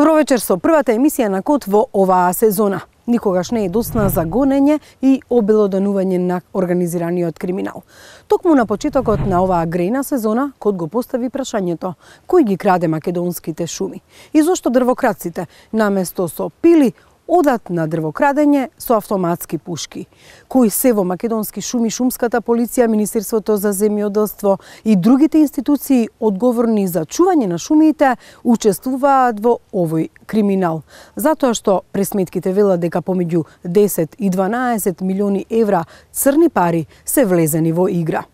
Добро вечер со првата емисија на Код во оваа сезона. Никогаш не е досна за гонење и обелоданување на организираниот криминал. Токму на почетокот на оваа грејна сезона, Код го постави прашањето: кој ги краде македонските шуми? И зошто дрвокрадците наместо со пили одат на дрвокрадење со автоматски пушки? Кои се во македонски шуми, шумската полиција, Министерството за земјоделство и другите институции одговорни за чување на шумите учествуваат во овој криминал? Затоа што пресметките велат дека помеѓу 10 и 12 милиони евра црни пари се влезени во игра.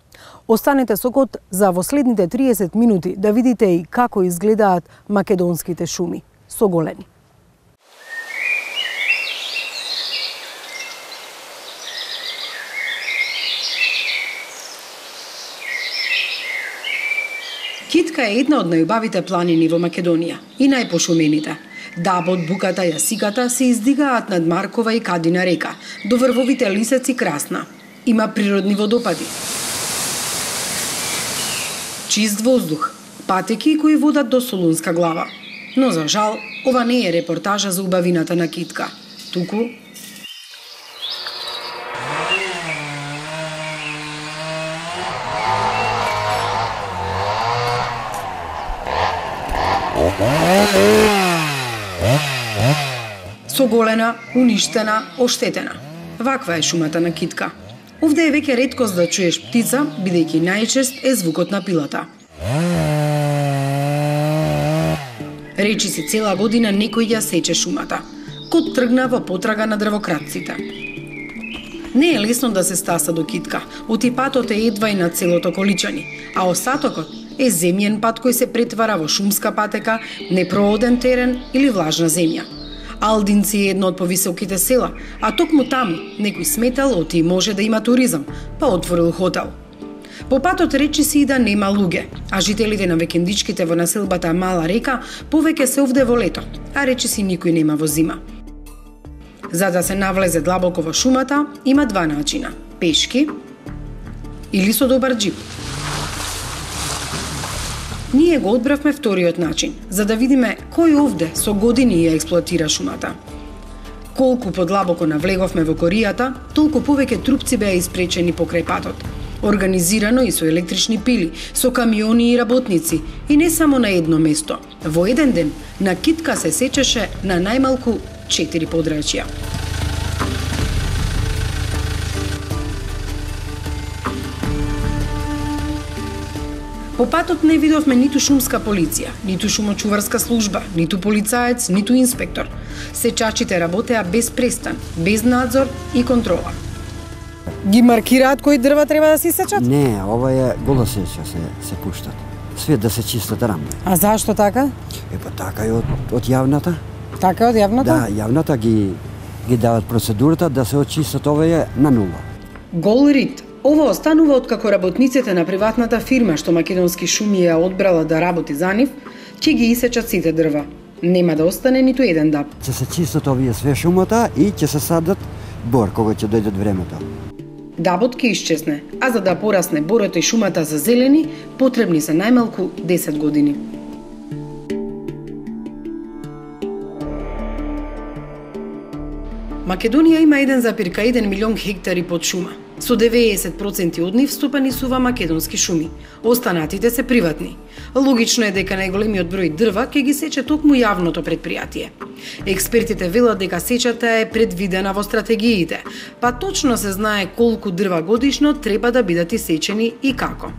Останете со Код за во следните 30 минути да видите и како изгледаат македонските шуми соголени. Китка е една од најубавите планини во Македонија и најпошумените. Дабот, Буката, Јасиката се издигаат над Маркова и Кадина река, до врвовите Лисец и Красна. Има природни водопади, чист воздух, патеки кои водат до Солунска глава. Но за жал, ова не е репортажа за убавината на Китка, туку соголена, уништена, оштетена. Ваква е шумата на Китка. Овде е веќе реткост да чуеш птица, бидејќи најчест е звукот на пилата. Речиси цела година некој ја сече шумата. Код тргна во потрага на дрвокрадците. Не е лесно да се стаса до Китка, отипатот е едва и на целото Количани, а остатокот е земјен пат кој се претвара во шумска патека, непрооден терен или влажна земја. Алдинци е едно од повисоките села, а токму таму некој сметал оти може да има туризам, па отворил хотел. По патот речиси и да нема луѓе, а жителите на викендичките во населбата Мала река повеќе се овде во лето, а речиси никој нема во зима. За да се навлезе длабоко во шумата, има два начина: пешки или со добар џип. Ние го одбравме вториот начин, за да видиме кој овде со години ја експлоатира шумата. Колку подлабоко навлеговме во коријата, толку повеќе трупци беа испречени покрај патот. Организирано и со електрични пили, со камиони и работници, и не само на едно место. Во еден ден на Китка се сечеше на најмалку 4 подрачја. По патот не видовме ниту шумска полиција, ниту шумочуварска служба, ниту полицаец, ниту инспектор. Сечачите работеа без престан, без надзор и контрола. Ги маркираат кои дрва треба да се сечат? Не, ова е гола сеча се пуштат. Свет да се чистат рамни. А зашто така? Па така и од јавната. Така од јавната? Да, јавната ги дават процедурата да се очистат овие на нула. Гол рит. Ова останува откако работниците на приватната фирма што Македонски шуми ја одбрала да работи за нив, ќе ги исечат сите дрва. Нема да остане ниту еден даб. Ќе се чистат овие све шумата и ќе се садат бор кога ќе дојдат времето. Дабот ќе исчезне, а за да порасне борот и шумата за зелени, потребни се најмалку 10 години. Македонија има 1,1 милион хектари под шума. Со 90% од нив стопанисува македонски шуми. Останатите се приватни. Логично е дека најголемиот број дрва ќе ги сече токму јавното претпријатие. Експертите велат дека сечата е предвидена во стратегиите, па точно се знае колку дрва годишно треба да бидат исечени и како.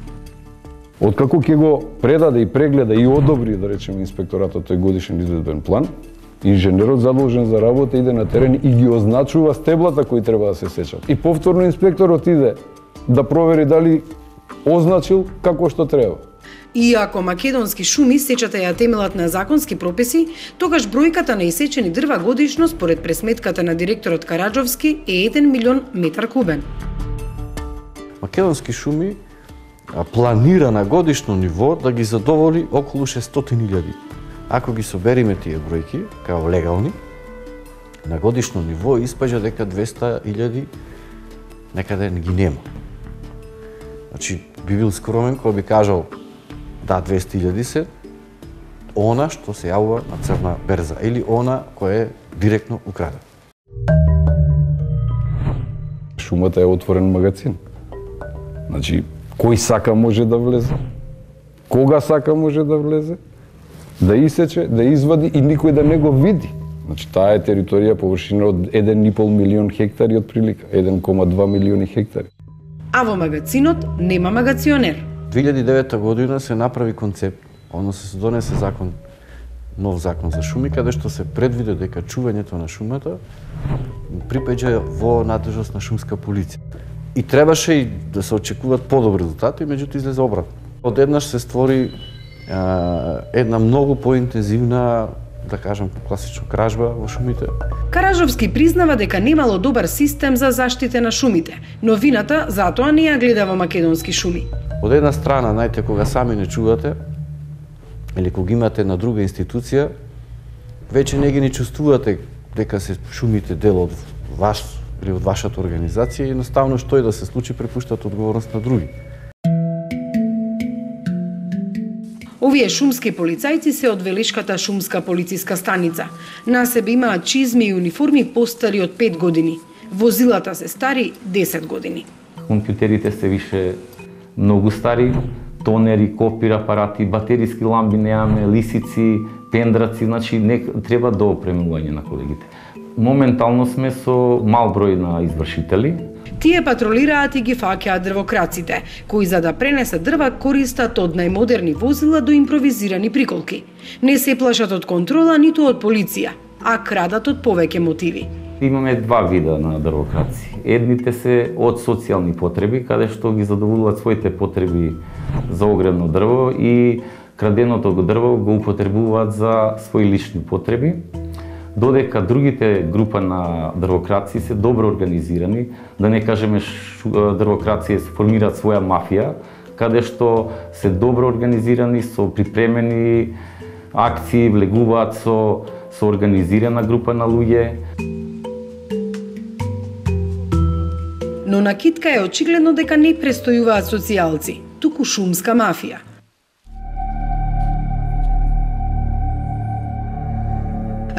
Откако ќе го предаде и прегледа и одобри, да речеме, инспекторатот тој годишен изvedбен план, инженерот задолжен за работа иде на терен и ги означува стеблата кои треба да се сечат. И повторно инспекторот иде да провери дали означил како што треба. Иако македонски шуми сечата ја темелат на законски прописи, тогаш бројката на исечени дрва годишно според пресметката на директорот Караджовски е 1 милион метар кубен. Македонски шуми планира на годишно ниво да ги задоволи околу 600.000. Ако ги собериме тие бројки, као легални, на годишно ниво испаѓа дека 200.000 некаде не ги нема. Значи, би бил скромен кога би кажал да 200.000 се, она што се јавува на црна берза или она кој е директно украден. Шумата е отворен магазин. Значи, кој сака може да влезе, кога сака може да влезе, да исече, да извади и никој да не го види. Значи, таа е територија површина од 1,5 милион хектари од прилика, 1,2 милиони хектари. А во магазинот нема магационер. 2009 година се направи концепт, односно се донесе закон, нов закон за шуми, каде што се предвиде дека чувањето на шумата припаѓа во надлежност на шумска полиција. И требаше и да се очекуваат подобри резултати, меѓутоа излезе обратно. Одеднаш се створи една многу поинтензивна, да кажам, класично кражба во шумите. Каражовски признава дека немало добар систем за заштита на шумите, но вината затоа не ја гледа во македонски шуми. Од една страна, најте кога сами не чувате, или кога имате на друга институција, веќе не ги не чувствувате дека се шумите дел од вас или од вашата организација и едноставно што и да се случи препуштат одговорност на други. Овие шумски полицајци се од Велишката шумска полициска станица. На себе имаат чизми и униформи постари од 5 години. Возилата се стари 10 години. Компјутерите се више многу стари, тонери, копир апарати, батериски ламби немаме, лисици, пендраци, значи треба доопремување на колегите. Моментално сме со мал број на извршители. Тие патролираат и ги фаќаат дрвокраците, кои за да пренесат дрва користат од најмодерни возила до импровизирани приколки. Не се плашат од контрола ниту од полиција, а крадат од повеќе мотиви. Имаме два вида на дрвокраци. Едните се од социјални потреби, каде што ги задоволуваат своите потреби за огревно дрво и краденото дрво го употребуваат за своји лични потреби. Додека другите група на дрвокраци се добро организирани, да не кажеме дрвокраци формираат своја мафија, каде што се добро организирани, со припремени акции, влегуваат со организирана група на луѓе. Но на Китка е очигледно дека не престојуваат социјалци, туку шумска мафија.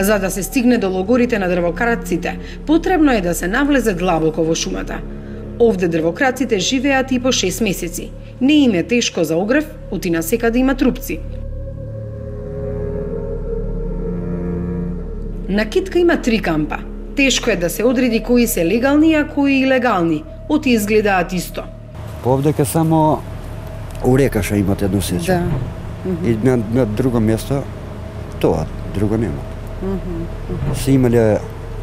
За да се стигне до логорите на дрвокраците, потребно е да се навлезе длабоко во шумата. Овде дрвокраците живеат и по 6 месеци. Не им е тешко за огрев, оти насекаде има трупци. На Китка има 3 кампа. Тешко е да се одреди кои се легални, а кои илегални. Оти изгледаат исто. Повдека само у Рекаша имат едно сече. Да. И на друго место тоа, друго нема. Се имале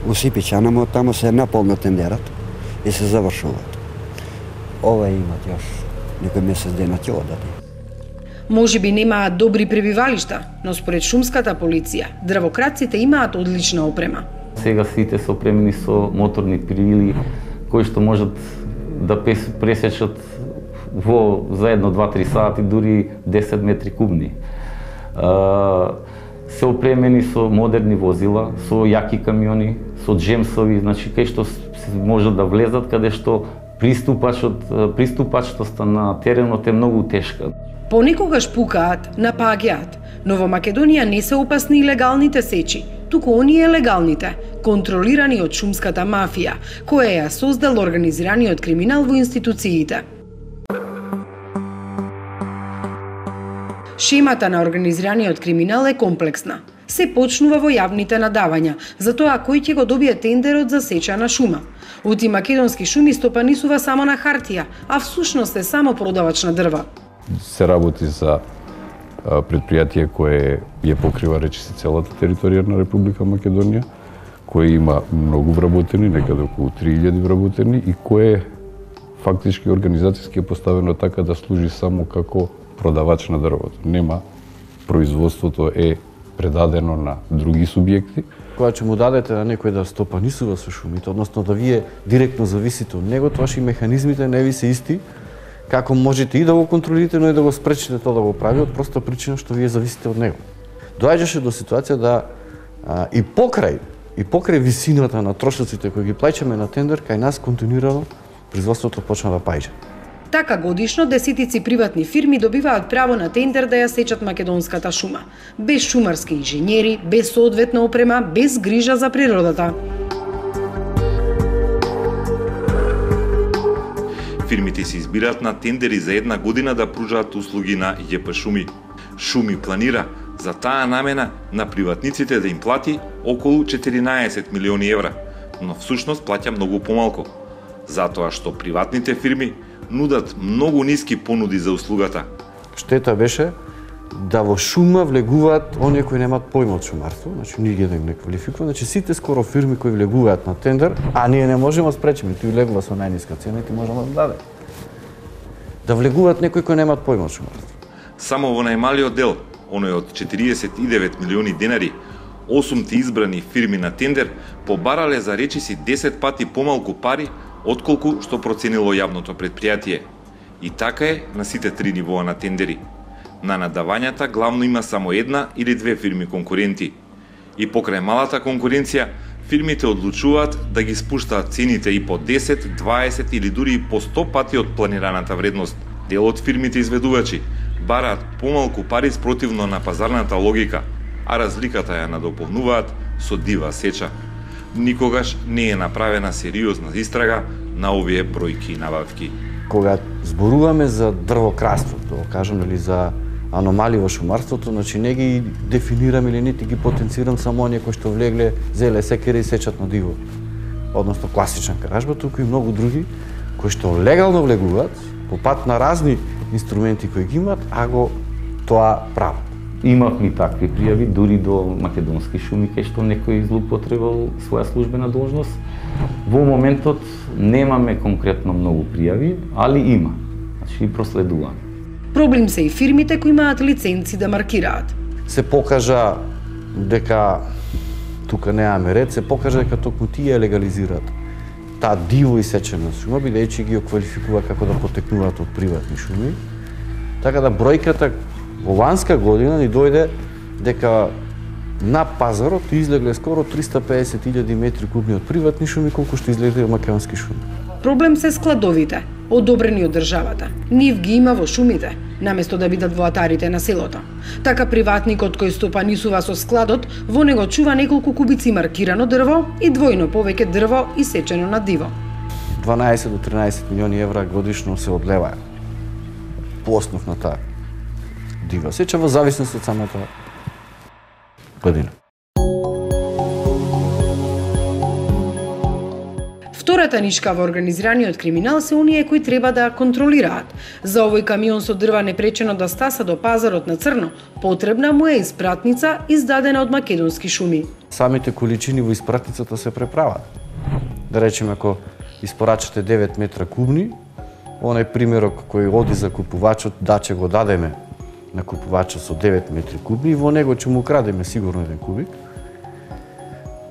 усипичана, но тамо се наполно тендерат и се завршуваат. Ова имат још некој месец дена ќе одати. Може би немаат добри пребивалишта, но според шумската полиција, дрвокраците имаат одлична опрема. Сега сите се опремени со моторни пилили, кои што можат да пресечат за 1-2-3 сати, дури 10 метри кубни. Се опремени со модерни возила, со јаки камиони, со джемсови, значи кај што можат да влезат, каде што приступачноста на теренот е многу тешка. Понекогаш пукаат, напаѓаат, но во Македонија не се опасни легалните сечи, туку оние легалните, контролирани од шумската мафија, која ја создал организираниот криминал во институциите. Шемата на организираниот криминал е комплексна. Се почнува во јавните надавања, за тоа кој ќе го добие тендерот за сеча на шума. Оти македонски шуми стопанисува само на хартија, а всушност е само продавач на дрва. Се работи за предпријатие кое ја покрива речиси целата територија на Република Македонија, кое има многу вработени, некаде околу 3000 вработени и кое фактички организацијски е поставено така да служи само како продавач на дрвото. Нема, производството е предадено на други субјекти. Кога ќе му дадете на некој да стопанисува со шумите, односно да вие директно зависите од него, тоа и механизмите не ви се исти, како можете и да го контролирате, но и да го спречите тоа да го прави, од проста причина што вие зависите од него. Доаѓаше до ситуација да и покрај висината на трошоците кои ги плаќаме на тендер, кај нас континуирано производството почна да паѓа. Така годишно десетици приватни фирми добиваат право на тендер да ја сечат македонската шума, без шумарски инженери, без соодветна опрема, без грижа за природата. Фирмите се избираат на тендери за една година да пружаат услуги на ЈП Шуми. Шуми планира за таа намена на приватниците да им плати околу 14 милиони евра, но всушност плаќа многу помалку, затоа што приватните фирми нудат многу ниски понуди за услугата. Штета беше да во шума влегуваат оние кои немаат појма од шумарство, значи ние да им не квалификуваме, значи сите скоро фирми кои влегуваат на тендер, а ние не можеме да спречиме, тој влегува со најниска цена и ти можеме да даде. Да влегуваат некои кои немаат појма од шумарство. Само во најмалиот дел, оној од 49 милиони денари, 8 избрани фирми на тендер побарале за речиси 10 пати помалку пари отколку што проценило јавното предпријатие. И така е на сите три нивоа на тендери. На надавањата главно има само една или две фирми конкуренти. И покрај малата конкуренција, фирмите одлучуваат да ги спуштаат цените и по 10, 20 или дури и по 100 пати од планираната вредност. Дел од фирмите изведувачи бараат помалку пари спротивно на пазарната логика, а разликата ја надополнуваат со дива сеча. Никогаш не е направена сериозна истрага на овие бројки и набавки. Кога зборуваме за дрвокраството, кажам, или за аномалии во шумарството, значи не ги дефинирам или нити ги потенцирам само оние кои што влегле, зеле секери и сечат на диво. Односно класична каражба, туку и многу други кои што легално влегуваат по пат на разни инструменти кои ги имаат, а го тоа прават. Имавме такви пријави дури до македонски шуми кај што некој злоупотребал своја службена должност. Во моментот немаме конкретно многу пријави, али има. Значи проследуваме. Проблем се и фирмите кои имаат лиценци да маркираат. Се покажа дека тука немаме ред, се покажа дека токму тие легализираат таа диво исечена шума, бидејќи ги оквалификува како да потекнуваат од приватни шуми. Така да бројката во ланска година ни дојде дека на пазарот излегле скоро 350.000 метри кубни од приватни шуми, колку што излегле од македонски шуми. Проблем се складовите, одобрени од државата. Нив ги има во шумите, наместо да бидат во атарите на селото. Така приватникот кој стопанисува со складот, во него чува неколку кубици маркирано дрво и двојно повеќе дрво исечено на диво. 12 до 13 милиони евра годишно се одлеваја по основ на таа дива сеча во зависност од самата година. Втората нишка во организираниот криминал се оние кои треба да контролираат. За овој камион со дрва непречено да стаса до пазарот на црно, потребна му е испратница издадена од македонски шуми. Самите количини во испратницата се преправат. Да речеме, ако испорачате 9 метра кубни, онај примерок кој оди за купувачот, да ќе го дадеме на купувачот со 9 метри кубни, во него ќе му крадеме сигурно 1 кубик.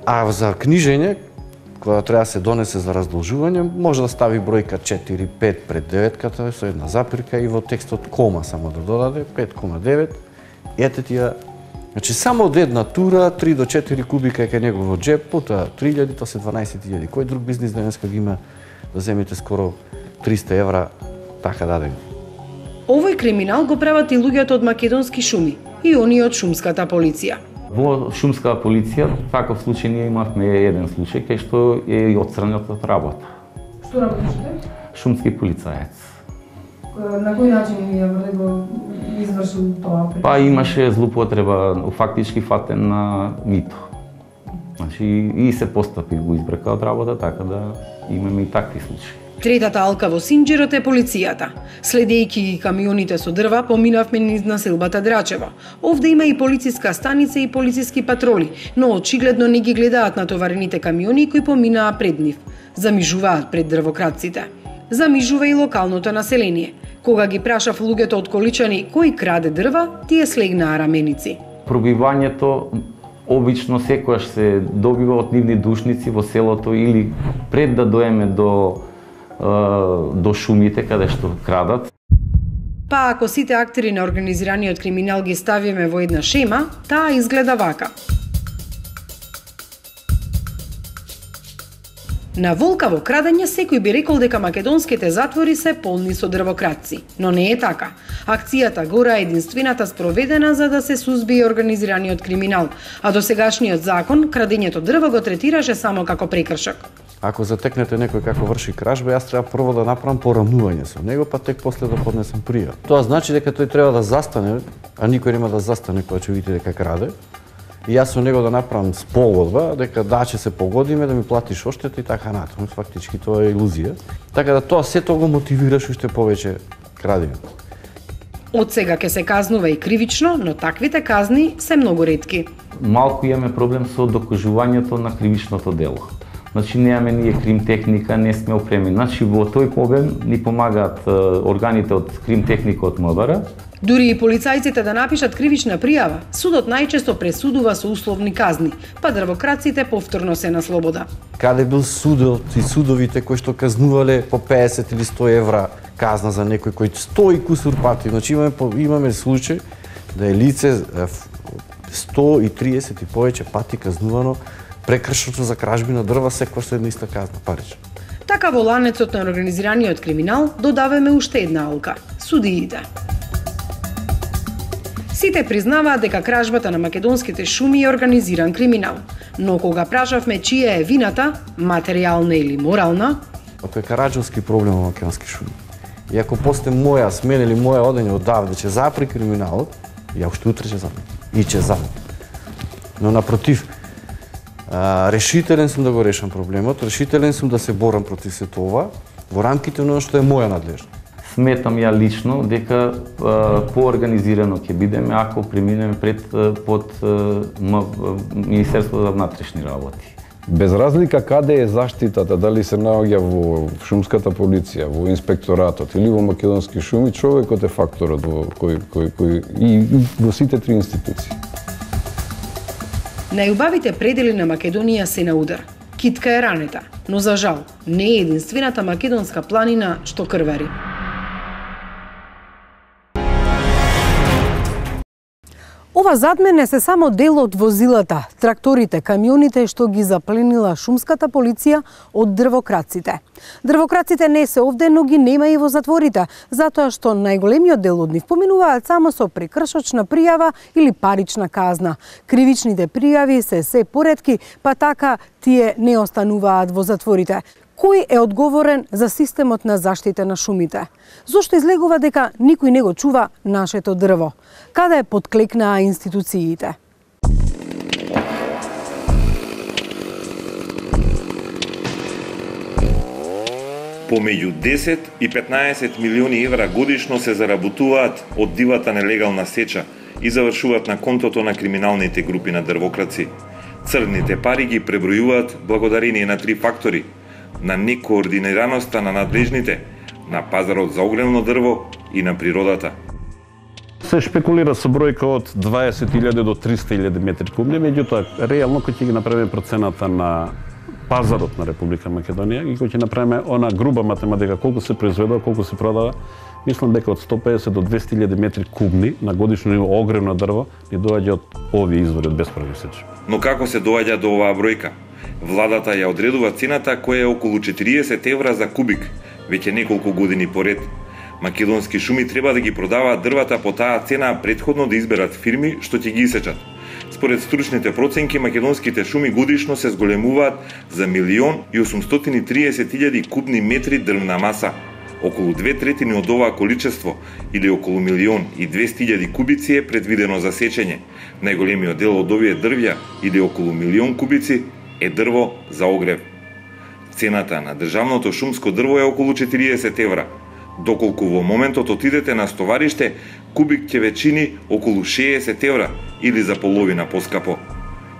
А за книжење, кога треба да се донесе за раздолжување, може да стави бројка 4-5 пред деветката со една запирка и во текстот кома само да додаде 5,9. Ете тие, значи само од една тура 3 до 4 кубика е кај негово джеп, пута 3.000, тоа се 12.000. Кој друг бизнис денеска ги има да земите скоро 300 евра така дадени? Овој криминал го прават и луѓето од македонски шуми и оние од шумската полиција. Во шумската полиција, таков случај ние имавме еден случај кај што е отстранет од работа. Што работите? Шумски полицаец. На кој начин ја го извршил тоа? Па имаше злоупотреба, фактички фатен на мито. Значи и се постапи го избрка од работа, така да имаме и такви случаи. Третата алка во Синџерот е полицијата. Следејќи ги камионите со дрва, поминавме низ населбата Драчево. Овде има и полициска станица и полициски патроли, но очигледно не ги гледаат натоварените камиони кои поминаа пред нив. Замижуваат пред дрвократците. Замижува и локалното население. Кога ги прашав луѓето од Количани кој краде дрва, тие слегнаа раменици. Пробивањето обично секојаш се добива од нивни душници во селото или пред да доеме до шумите каде што крадат. Па ако сите актери на организираниот криминал ги ставиме во една шема, таа изгледа вака. На волкаво крадење секој би рекол дека македонските затвори се полни со дрвократци, но не е така. Акцијата Гора е единствената спроведена за да се сузбие организираниот криминал, а досегашниот закон крадењето дрво го третираше само како прекршок. Ако затекнете некој како врши кражба, јас треба прво да направам порамнување со него, па тек после да поднесам пријава. Тоа значи дека тој треба да застане, а никој нема да застане кога ќе видите дека краде. И јас со него да направам спогодба дека ќе се погодиме да ми платиш оштета и така натаму. Фактички тоа е илузија. Така да тоа сето го мотивираш уште повеќе крадење. Од сега ќе се казнува и кривично, но таквите казни се многу ретки. Малку имаме проблем со докажувањето на кривичното дело. Значи немаме ние крим техника, не сме опремени. Значи во тој обем ни помагаат органите од крим техника од МВР. Дури и полицајците да напишат кривична пријава, судот најчесто пресудува со условни казни, па дрвократците повторно се на слобода. Каде бил судот и судовите кои што казнувале по 50 или 100 евра казна за некој кој 100 и кусур пати. Значи имаме случај да е лице 130 и повеќе пати казнувано прекршното за кражби на дрва секогаш со една иста казна парична. Така во ланецот на организираниот криминал додаваме уште една алка – судиите. Сите признаваат дека кражбата на македонските шуми е организиран криминал, но кога прашавме чија е вината, материјална или морална, Тоа е караџовски проблем во македонски шуми. И ако после моја смена или моја одење одавде ќе запри криминалот, ја уште утре ќе запри. И ќе запри. Но напротив, решителен сум да го решам проблемот, решителен сум да се борам против сето ова во рамките на што е моја надлежност. Сметам ја лично дека поорганизирано ќе бидеме ако преминеме под Министерството за внатрешни работи. Без разлика каде е заштитата, дали се наоѓа во шумската полиција, во инспекторатот или во македонски шуми, човекот е факторот кој и во сите три институции. Најубавите предели на Македонија се на удар. Китка е ранета, но за жал не е единствената македонска планина што крвари. Ова зад мене се само дел од возилата, тракторите, камионите што ги запленила шумската полиција од дрвократците. Дрвократците не се овде, но ги нема и во затворите, затоа што најголемиот дел од нив поминуваат само со прекршочна пријава или парична казна. Кривичните пријави се поретки, па така тие не остануваат во затворите. Кој е одговорен за системот на заштита на шумите? Зошто излегува дека никој не го чува нашето дрво? Каде подклекнаа институциите? Помеѓу 10 и 15 милиони евра годишно се заработуваат од дивата нелегална сеча и завршуваат на контото на криминалните групи на дрвократци. Црните пари ги пребројуваат благодарение на три фактори: на некоординираноста на надлежните, на пазарот за огневно дрво и на природата. Се шпекулира со бројка од 20.000 до 300.000 метри кубни, меѓутоа реално кој ќе ги направиме процената на пазарот на Република Македонија и кој ќе направиме она груба математика колку се произведува, колку се продава, мислам дека од 150 до 200.000 метри кубни на годишно ниво огневно дрво ни доаѓа од овие извори од бесправни сечи. Но како се доаѓа до оваа бројка? Владата ја одредува цената која е околу 40 евра за кубик, веќе неколку години поред. Македонски шуми треба да ги продаваат дрвата по таа цена предходно да изберат фирми што ќе ги исечат. Според стручните проценки, македонските шуми годишно се зголемуваат за 1.830.000 кубни метри дрвна маса. Околу 2/3 од оваа количество, или околу 1.200.000 кубици е предвидено за сечење. Најголемиот дел од овие дрвја, или околу 1.000.000 кубици, е дрво за огрев. Цената на државното шумско дрво е околу 40 евра, доколку во моментот отидете на стовариште, кубик ќе ве чини околу 60 евра или за половина поскапо.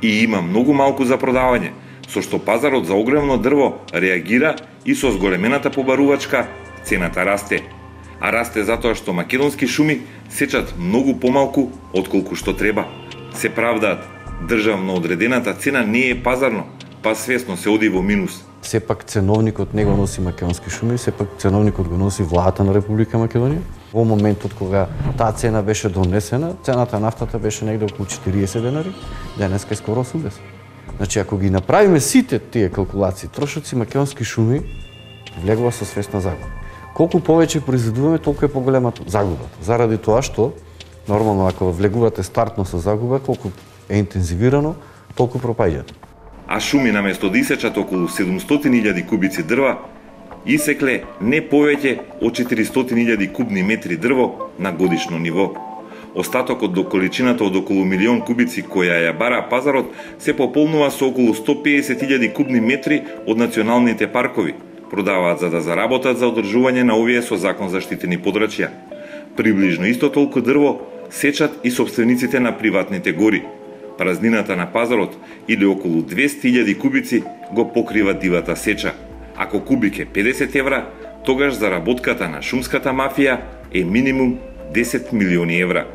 И има многу малку за продавање, со што пазарот за огревно дрво реагира и со зголемената побарувачка цената расте. А расте затоа што македонски шуми сечат многу помалку отколку што треба. Се правдаат, државно одредената цена не е пазарно, па свесно се оди во минус. Сепак ценовникот не го носи македонски шуми, сепак ценовникот го носи владата на Република Македонија. Во моментот кога таа цена беше донесена, цената на нафтата беше негде околу 40 денари, денеска е скоро 80. Значи, ако ги направиме сите тие калкулации, трошоци македонски шуми влегува со свесна загуба. Колку повеќе произведуваме, толку е поголема загубата. Заради тоа што, нормално, ако влегувате стартно со загуба, колку е интензивирано, толку пропаѓате. А шуми наместо да исечат околу 700.000 кубици дрва, исекле не повеќе од 400.000 кубни метри дрво на годишно ниво. Остатокот до количината од околу 1.000.000 кубици која ја бара пазарот се пополнува со околу 150.000 кубни метри од националните паркови. Продаваат за да заработат за одржување на овие со закон заштитени подрачја. Приближно исто толку дрво сечат и собствениците на приватните гори. Празнината на пазарот или околу 200.000 кубици го покрива дивата сеча. Ако кубик е 50 евра, тогаш заработката на шумската мафија е минимум 10 милиони евра.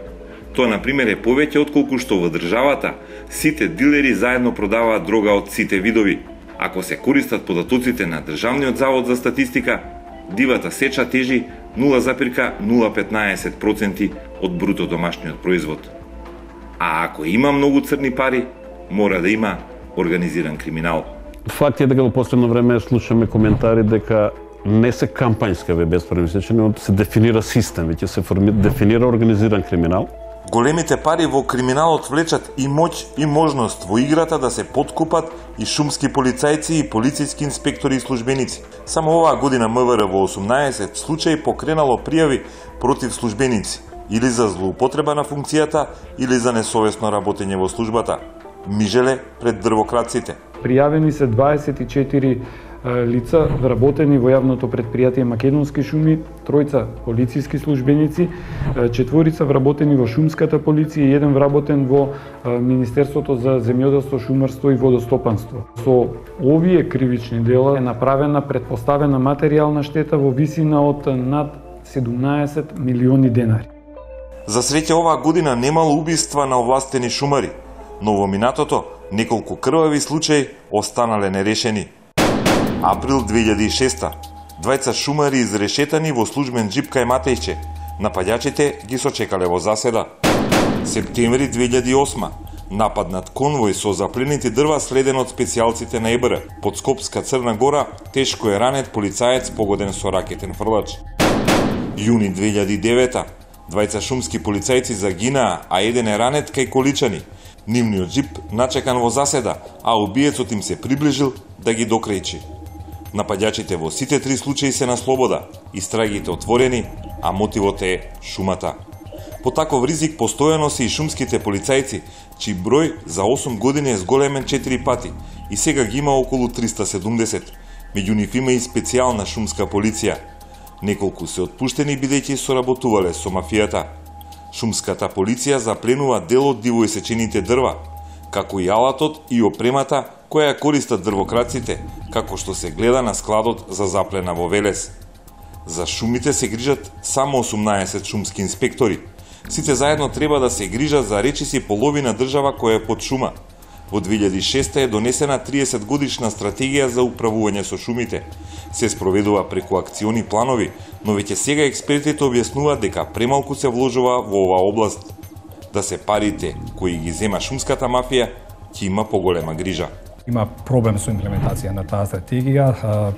Тоа, например, е повеќе отколку што во државата сите дилери заедно продаваат дрога од сите видови. Ако се користат податоците на Државниот завод за статистика, дивата сеча тежи 0,015% од бруто домашниот производ. А ако има многу црни пари, мора да има организиран криминал. Факт е дека во последно време слушаме коментари дека не се кампањска бесправни сечења, се дефинира систем, веќе се дефинира организиран криминал. Големите пари во криминалот влечат и моќ и можност во играта да се подкупат и шумски полицајци и полициски инспектори и службеници. Само оваа година МВР во 18 случаи покренало пријави против службеници или за злоупотреба на функцијата или за несовесно работење во службата. Мижеле пред дрвокраците. Пријавени се 24 лица вработени во јавното предпријатие Македонски шуми, 3 полициски службеници, 4 вработени во шумската полиција и 1 вработен во Министерството за земјоделство, шумарство и водостопанство. Со овие кривични дела е направена претпоставена материјална штета во висина од над 17 милиони денари. За среќа оваа година немало убиства на овластени шумари, но во минатото неколку крвави случаи останале нерешени. Април 2006. Двајца шумари изрешетани во службен џип кај Матејче. Нападјачите ги сочекале во заседа. Септември 2008. Напад над конвој со запленети дрва следен од специјалците на ЕБР. Под Скопска Црна Гора тешко е ранет полицаец погоден со ракетен фрлач. Јуни 2009. Двајца шумски полицајци загинаа, а еден е ранет кај Количани. Нивниот џип начекан во заседа, а убиецот им се приближил да ги докрејчи. Нападјачите во сите 3 случаи се на слобода, истрагите отворени, а мотивот е шумата. По таков ризик постојано се и шумските полицајци, чиј број за 8 години е зголемен 4 пати и сега ги има околу 370. Меѓу нив има и специјална шумска полиција. Неколку се отпуштени бидејќи соработувале со мафијата. Шумската полиција запленува дел од дивоисечените дрва, како и алатот и опремата која ја користат дрвокраците, како што се гледа на складот за заплена во Велес. За шумите се грижат само 18 шумски инспектори. Сите заедно треба да се грижат за речиси половина држава која е под шума. Во 2006 е донесена 30 годишна стратегија за управување со шумите. Се спроведува преку акциони планови, но веќе сега експертите објаснуваат дека премалку се вложува во оваа област. Да се парите кои ги зема шумската мафија, ќе има поголема грижа. Има проблем со имплементација на таа стратегија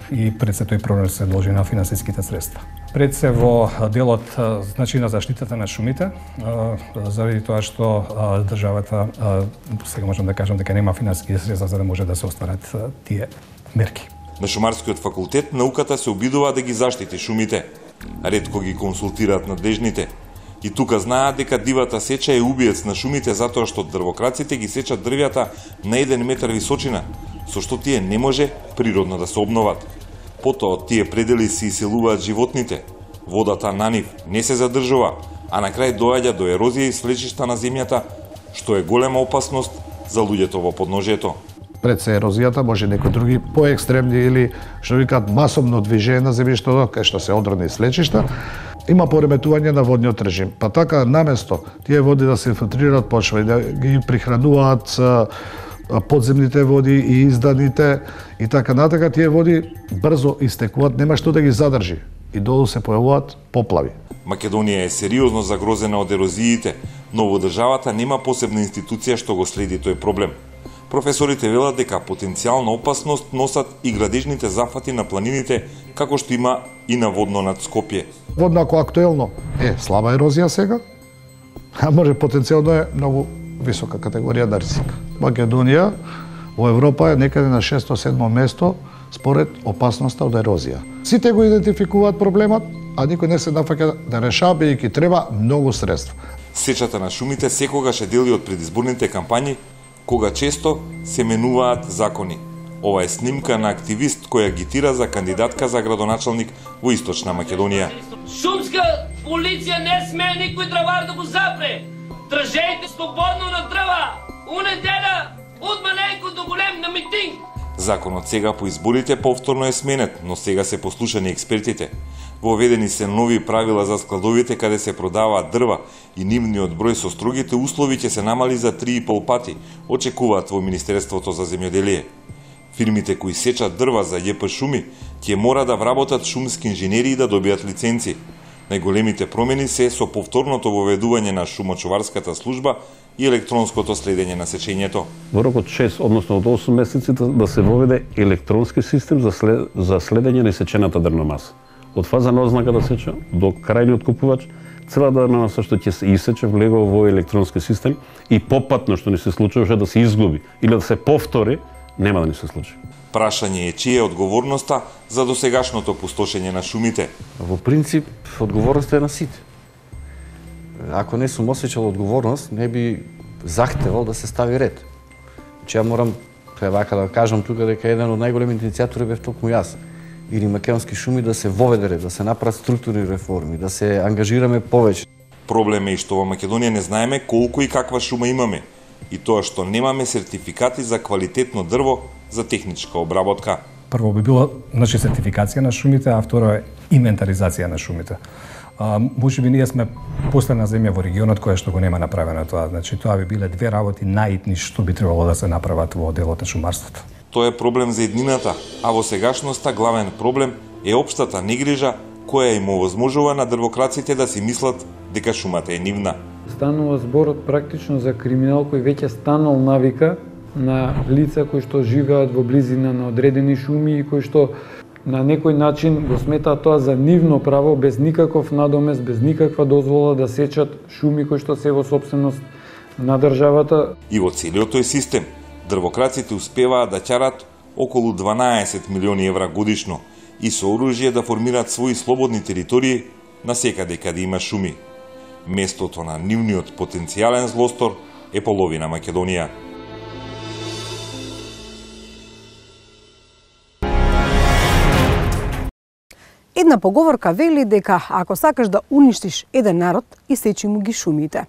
и пред се тој проблем се дължи на финансиските средства. Пред се во делот значи на заштитата на шумите, заради тоа што државата сега можам да кажам дека нема финансиски средства за да може да се остварат тие мерки. На Шумарскиот факултет науката се обидува да ги заштити шумите. Ретко ги консултираат надлежните. И тука знаат дека дивата сеча е убиец на шумите затоа што дрвокраците ги сечат дрвјата на 1 метар височина, со што тие не може природно да се обноват. Потоа од тие предели се иселуваат животните. Водата на нив не се задржува, а на крај доаѓа до ерозија и свлечишта на земјата, што е голема опасност за луѓето во подножието. Пред се ерозијата може некои други поекстремни или што викаат масовно движење на земјиштето, кај што се одрани слечишта, има пореметување на водниот режим. Па така наместо тие води да се инфилтрираат почва и да ги прихрануваат подземните води и изданите и така натака, тие води брзо истекуваат, нема што да ги задржи и долу се појавуваат поплави. Македонија е сериозно загрозена од ерозиите, но во државата нема посебна институција што го следи тој проблем. Професорите велат дека потенцијална опасност носат и градежните зафати на планините, како што има и наводно над Скопје. Водно актуелно е слаба ерозија сега, а може потенцијално е многу висока категорија на ризик. Македонија во Европа е некаде на 6-7 место според опасноста од ерозија. Сите го идентификуваат проблемот, а никој не се нафаќа да решава, бидејќи треба многу средства. Сечата на шумите секогаш е дел од предизборните кампањи, кога често се менуваат закони. Ова е снимка на активист кој агитира за кандидатка за градоначалник во Источна Македонија. Шумска полиција не смее никој дравар да го запре. Држете слободно на дрва. Унедела од маленко до голем на митинг. Законот сега по изборите повторно е сменет, но сега се послушани експертите. Воведени се нови правила за складовите каде се продаваат дрва и нивниот број со строгите услови ќе се намали за 3,5 пати, очекуваат во Министерството за земјоделие. Фирмите кои сечат дрва за ЈП Шуми ќе мора да вработат шумски инженери и да добијат лиценци. Најголемите промени се со повторното воведување на шумочуварската служба и електронското следење на сечењето. Во рок од 6, односно од 8 месеци да се воведе електронски систем за следење на сечената дрвна маса. Од фаза на ознака да сече до крајниот купувач, цела дрвна маса што ќе се исече влегува во електронски систем и попатно што ни се случуваше да се изгуби или да се повтори, нема да ни се случи. Прашање е чија е одговорноста за досегашното пустошење на шумите. Во принцип, одговорноста е на сите. Ако не сум осеќал одговорност, не би захтевал да се стави ред. Ја морам вака да кажам тука дека еден од најголемите иницијатори бев токму јас. Или македонски шуми да се воведе ред, да се направат структурни реформи, да се ангажираме повеќе. Проблем е и што во Македонија не знаеме колку и каква шума имаме, и тоа што немаме сертификати за квалитетно дрво за техничка обработка. Прво би било сертификација на шумите, а второ е инвентаризација на шумите. Може би ние сме последна земја во регионот која што го нема направено тоа. Тоа би биле две работи најитни што би требало да се направат во делот на шумарството. Тоа е проблем за еднината, а во сегашноста главен проблем е општата негрижа која им овозможува на дрвокраците да си мислат дека шумата е нивна. Станува збор практично за криминал кој веќе станал навика на лица кои што живеат во близина на одредени шуми и кои што на некој начин го сметаат тоа за нивно право, без никаков надомест, без никаква дозвола да сечат шуми кои што се во сопственост на државата. И во целиот тој систем, дрвокраците успеваат да ќарат околу 12 милиони евра годишно и со оружје да формираат своји слободни територии на секаде каде има шуми. Местото на нивниот потенцијален злостор е половина Македонија. Една поговорка вели дека ако сакаш да уништиш еден народ, исечи му ги шумите.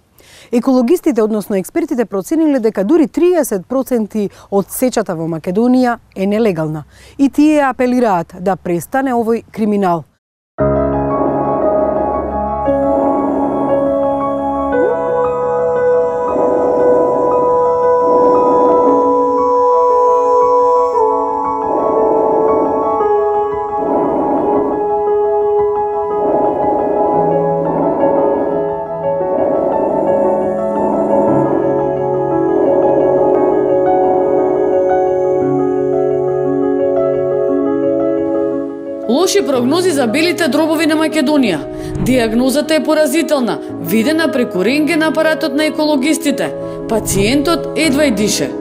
Екологистите, односно експертите, процениле дека дури 30% од сечата во Македонија е нелегална и тие апелираат да престане овој криминал. Лоши прогнози за белите дробови на Македонија. Диагнозата е поразителна, видена преку рентген апаратот на екологистите. Пациентот едва и дише.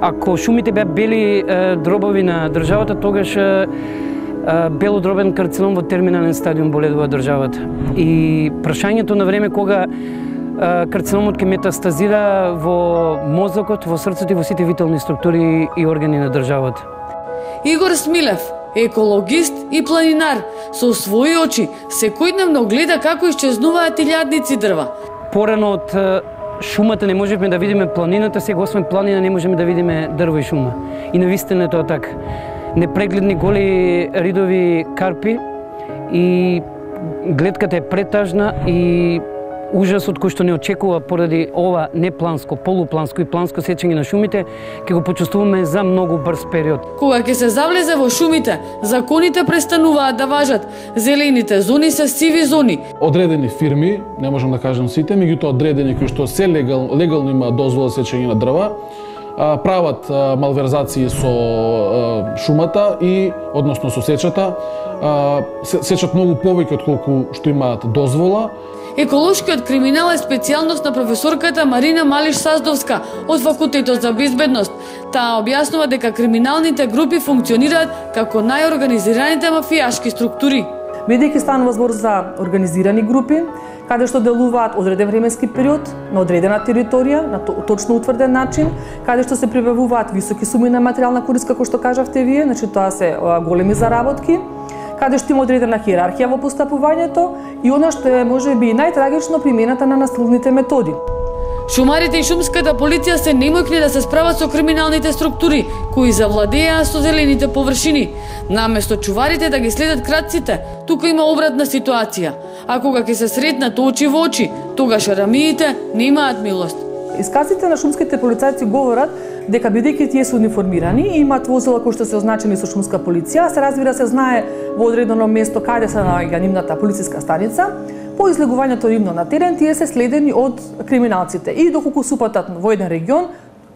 Ако шумите беа бели дробови на државата, тогаш белодробен карцином во терминален стадиум боледува државата. И прашањето на време кога карциномот ќе метастазира во мозокот, во срцето и во сите витални структури и органи на државата. Игор Смилев, екологист и планинар, со своји очи секојдневно гледа како исчезнуваат илјадници дрва. Порано од шумата не можеме да видиме планината, сега освен планина не можеме да видиме дрво и шума. И навистина е тоа така. Непрегледни голи ридови карпи и гледката е претажна и ужасот кој што не очекува поради ова непланско, полупланско и планско сечење на шумите, ќе го почувствуваме за многу брз период. Кога ќе се завлезе во шумите, законите престануваат да важат. Зелените зони се сиви зони. Одредени фирми, не можам да кажам сите, меѓутоа одредени кои што се легално имаат дозвола за сечење на дрва, прават малверзации со шумата и односно со сечата, сечат многу повеќе од колку што имаат дозвола. Еколошкиот криминал е специјалност на професорката Марина Малиш-Саздовска од Факултетот за безбедност. Таа објаснува дека криминалните групи функционираат како најорганизираните мафијашки структури. Бидејќи станува збор за организирани групи, каде што делуваат одреден временски период, на одредена територија, на точно утврден начин, каде што се прибавуваат високи суми на материјална корист, како што кажавте вие, значи тоа се големи заработки, каде што има одредена хиерархија во постапувањето и она што е можеби најтрагично примената на насилните методи. Шумарите и шумската полиција се немојкни да се справат со криминалните структури кои завладеа со зелените површини. Наместо чуварите да ги следат крадците, тука има обратна ситуација. А кога ќе се сретнат очи во очи, тогаш арамиите немаат милост. Исказите на шумските полицајци говорат дека бидејќи тие се униформирани и имаат возила кои што се означени со шумска полиција, се разбира се знае во одредено место каде се наоѓа нивната полициска станица, по излегувањето нивно на терен тие се следени од криминалците и доколку се упатат во еден регион,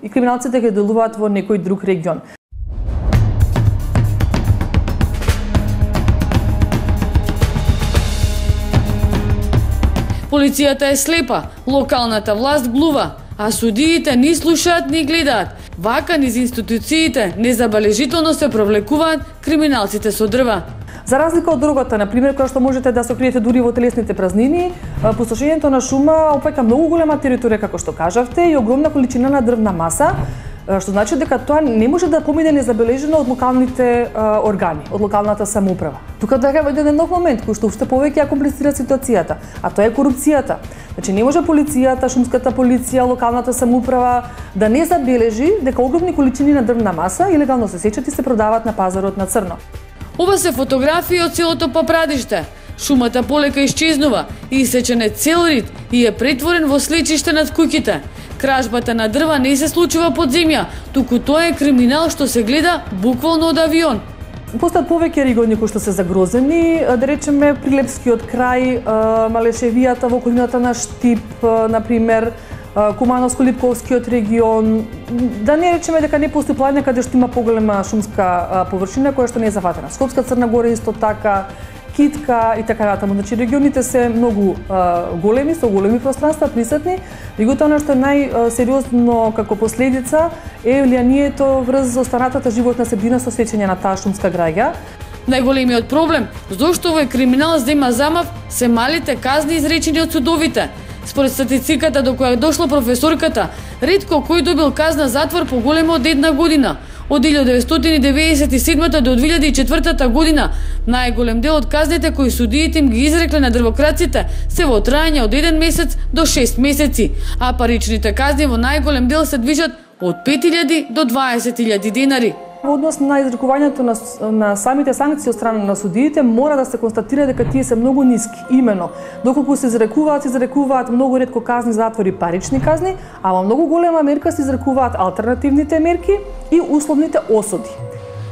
и криминалците ќе делуваат во некој друг регион. Полицијата е слепа, локалната власт глува, а судиите ни слушаат, ни гледаат. Вака низ институциите незабележително се провлекуваат криминалците со дрва. За разлика од дрогата, например, која што можете да се окриете дури во телесните празнини, пустошењето на шума опаќа многу голема територија, како што кажавте, и огромна количина на дрвна маса, што значи дека тоа не може да помине незабележено од локалните органи, од локалната самоуправа. Тука дека е еден нов момент кој што уште повеќе ја комплицира ситуацијата, а тоа е корупцијата. Значи не може полицијата, шумската полиција, локалната самоуправа да не забележи дека огромни количини на дрвна маса илегално се сечат и се продаваат на пазарот на црно. Ова се фотографии од целото Папрадиште. Шумата полека исчезнува и исечен е цел рид и е претворен во слечиште над куќите. Кражбата на дрва не се случува под земја, туку тоа е криминал што се гледа буквално од авион. Постојат повеќе региони кои што се загрозени, да речеме Прилепскиот крај, Малешевијата во околината на Штип, например, Кумановско-Липковскиот регион, да не речеме дека не постои планина каде што има поголема шумска површина која што не е зафатена. Скопска Црна Гора исто така, Китка и така натаму. Значи регионите се многу големи, со големи пространства присутни. Меѓутоа она што е најсериозно како последица е влијанието врз останатата животна средина со сечење на таа шумска граѓа. Најголемиот проблем зошто овој криминал зема замав се малите казни изречени од судовите. Според статистиката до која дошла професорката, ретко кој добил казна затвор поголема од 1 година. Од 1997 до 2004 година, најголем дел од казните кои судиите им ги изрекле на дрвокраците се во трајање од 1 месец до 6 месеци, а паричните казни во најголем дел се движат од 5.000 до 20.000 денари. Во однос на изрекувањето на самите санкции од страна на судиите, мора да се констатира дека тие се многу ниски. Имено, доколку се изрекуваат многу ретко казни затвори, парични казни, а во многу голема мерка се изрекуваат алтернативните мерки и условните осуди.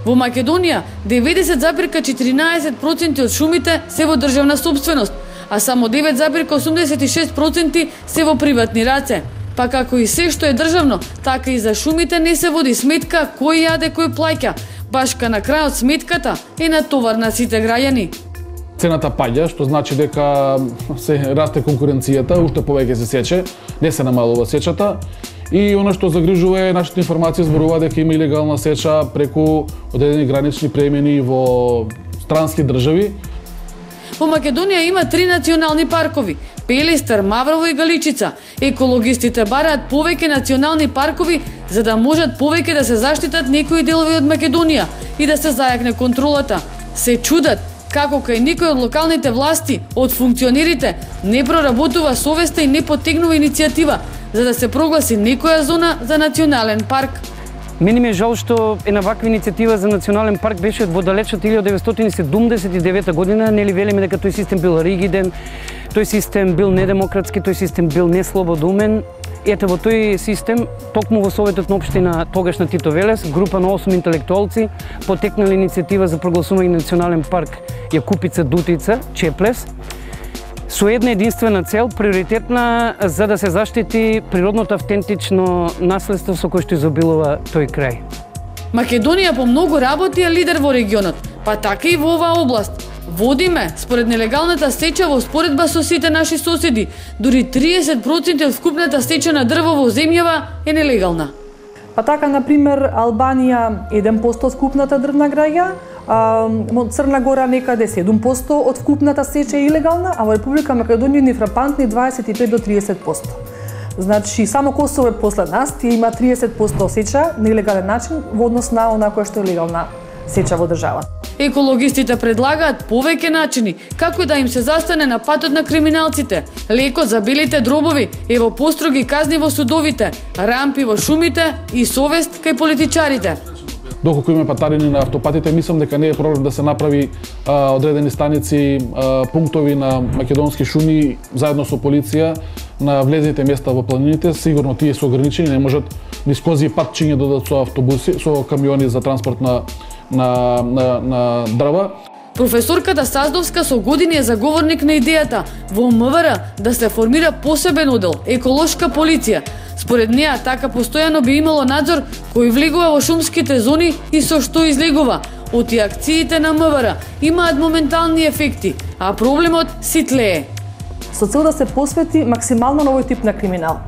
Во Македонија 90,14% од шумите се во државна собственост, а само 9,86% се во приватни раце. Па како и се што е државно, така и за шумите не се води сметка кој јаде, кој плаќа. Башка на крајот сметката е на товар на сите граѓани. Цената паѓа, што значи дека се расте конкуренцијата, уште повеќе се сече, не се намалува сечата. И она што загрижува е нашите информации зборува дека има илегална сеча преку одредени гранични премини во странски држави. Во Македонија има 3 национални паркови – Пелестар, Маврово и Галичица. Екологистите бараат повеќе национални паркови за да можат повеќе да се заштитат некои делови од Македонија и да се зајакне контролата. Се чудат како кај никој од локалните власти, од функционерите, не проработува совеста и не поттегнува иницијатива за да се прогласи некоја зона за национален парк. Мене ми е жал што една ваква иницијатива за национален парк беше во далечната 1979 година, нели велиме дека тој систем бил ригиден, тој систем бил недемократски, тој систем бил неслободумен. Ете во тој систем, токму во Советот на општина тогаш на Тито Велес, група на 8 интелектуалци потекнали иницијатива за прогласување на национален парк Јакупица Дутица, Чеплес. со една единствена цел, приоритетна за да се заштити природното автентично наследство со кое што изобилува тој крај. Македонија по многу работи е лидер во регионот, па така и во оваа област. Водиме, според нелегалната сеча во споредба со сите наши соседи, дури 30% од вкупната сеча на дрво во земјава е нелегална. Па така, например, Албанија 1% од вкупната дрвна граѓа, Црна Гора некаде 7% од вкупната сеча е илегална, а во Република Македонија ни фрапантни 25 до 30%. Значи, само Косово е после нас, тие има 30% сеча на илегален начин во однос на она која што е легална сеча во држава. Екологистите предлагаат повеќе начини како да им се застане на патот на криминалците. Лекот за белите дробови е во построги казни во судовите, рампи во шумите и совест кај политичарите. Доколку има патарини на автопатите, мислам дека не е проблем да се направи одредени станици, пунктови на македонски шуми заедно со полиција на влезните места во планините. Сигурно тие се ограничени, не можат низ кози патчиња додат со автобуси, со камиони за транспорт на дрва. Професорката Саздовска со години е заговорник на идејата во МВР да се формира посебен одел еколошка полиција. Според неа, така постојано би имало надзор кој влегува во шумските зони и со што излегува. Оти акциите на МВР имаат моментални ефекти, а проблемот ситлее. Со цел да се посвети максимално на овој тип на криминал.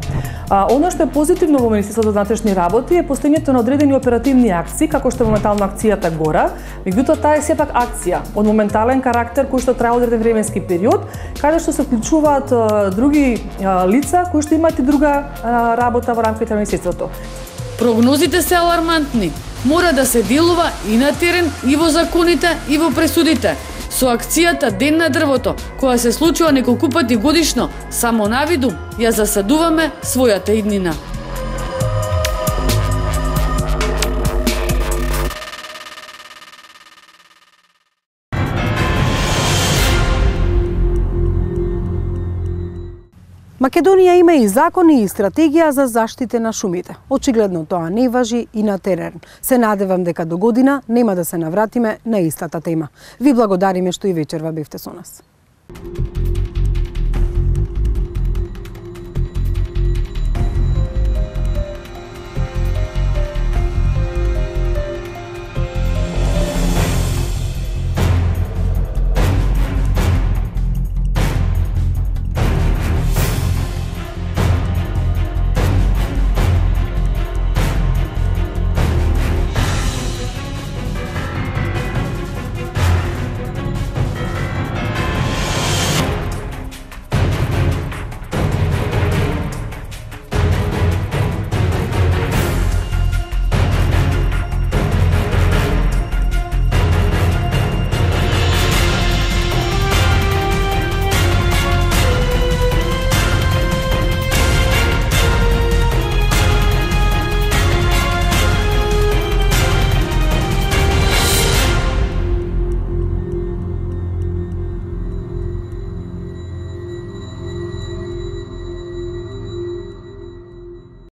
Оно што е позитивно во Министерството за внатрешни работи е постојањето на одредени оперативни акции, како што е моментално акцијата Гора, меѓутоа таа е сепак акција од моментален карактер кој што трае одреден временски период, каде што се вклучуваат други лица кои што имаат и друга работа во рамките на Министерството. Прогнозите се алармантни. Мора да се делува и на терен, и во законите, и во пресудите. Со акцијата Ден на дрвото, која се случува неколку пати годишно, само навиду ја засадуваме својата иднина. Македонија има и закони и стратегија за заштита на шумите. Очигледно тоа не важи и на терен. Се надевам дека до година нема да се навратиме на истата тема. Ви благодариме што и вечерва бевте со нас.